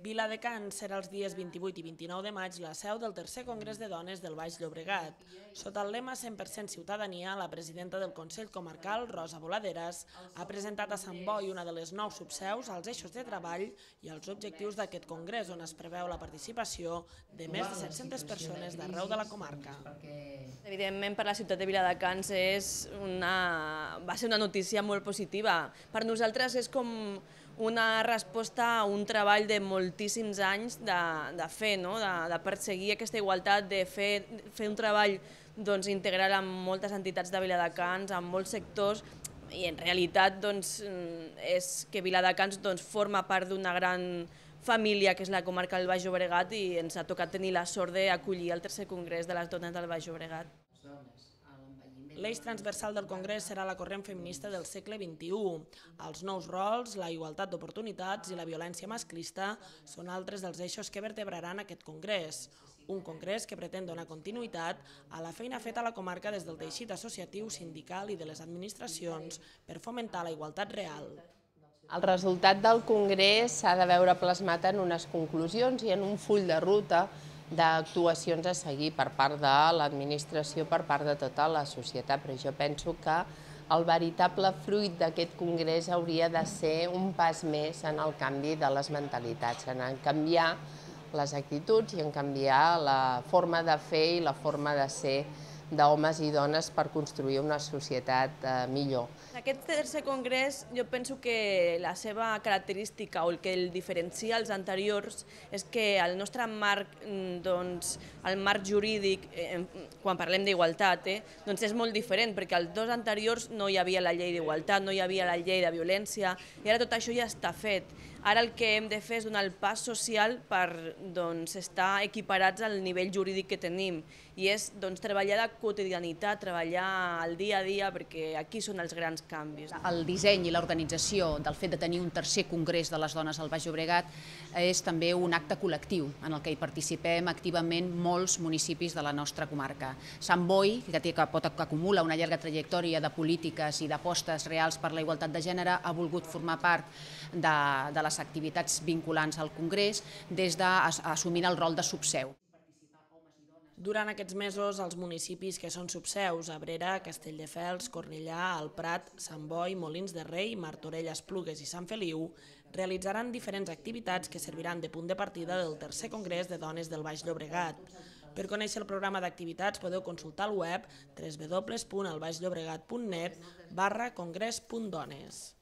Viladecans serà els dies 28 i 29 de maig la seu del tercer Congrés de Dones del Baix Llobregat. Sota el lema 100% ciutadania, la presidenta del Consell Comarcal, Rosa Boladeras, ha presentat a Sant Boi una de les 9 subseus, els eixos de treball i els objectius d'aquest congrés, on es preveu la participació de més de 700 persones d'arreu de la comarca. Evidentment, per la ciutat de Viladecans va ser una notícia molt positiva. Per nosaltres és com una resposta a un treball de moltíssims anys de fer, de perseguir aquesta igualtat, de fer un treball integral amb moltes entitats de Viladecans, amb molts sectors, i en realitat és que Viladecans forma part d'una gran família que és la comarca del Baix Llobregat i ens ha tocat tenir la sort d'acollir el tercer congrés de les dones del Baix Llobregat. L'eix transversal del congrés serà la corrent feminista del segle XXI. Els nous rols, la igualtat d'oportunitats i la violència masclista són altres dels eixos que vertebraran aquest congrés. Un congrés que pretén donar continuïtat a la feina feta a la comarca des del teixit associatiu, sindical i de les administracions per fomentar la igualtat real. El resultat del congrés s'ha de veure plasmat en unes conclusions i en un full de ruta d'actuacions a seguir per part de l'administració, per part de tota la societat, però jo penso que el veritable fruit d'aquest congrés hauria de ser un pas més en el canvi de les mentalitats, en canviar les actituds i en canviar la forma de fer i la forma de ser d'homes i dones per construir una societat millor. En aquest tercer congrés jo penso que la seva característica o el que el diferencia als anteriors és que el nostre marc, el marc jurídic, quan parlem d'igualtat, és molt diferent, perquè als dos anteriors no hi havia la llei d'igualtat, no hi havia la llei de violència, i ara tot això ja està fet. Ara el que hem de fer és donar el pas social per estar equiparats al nivell jurídic que tenim, i és treballar la quotidianitat, treballar el dia a dia, perquè aquí són els grans canvis. El disseny i l'organització del fet de tenir un tercer congrés de les dones al Baix Llobregat és també un acte col·lectiu en el que hi participem activament molts municipis de la nostra comarca. Sant Boi, que acumula una llarga trajectòria de polítiques i d'apostes reals per la igualtat de gènere, ha volgut formar part de les activitats vinculants al congrés assumint el rol de subseu. Durant aquests mesos, els municipis que són subseus, Abrera, Castelldefels, Cornellà, El Prat, Sant Boi, Molins de Rei, Martorell, Esplugues i Sant Feliu, realitzaran diferents activitats que serviran de punt de partida del tercer congrés de dones del Baix Llobregat. Per conèixer el programa d'activitats podeu consultar el web www.elbaixllobregat.net/congrés.dones.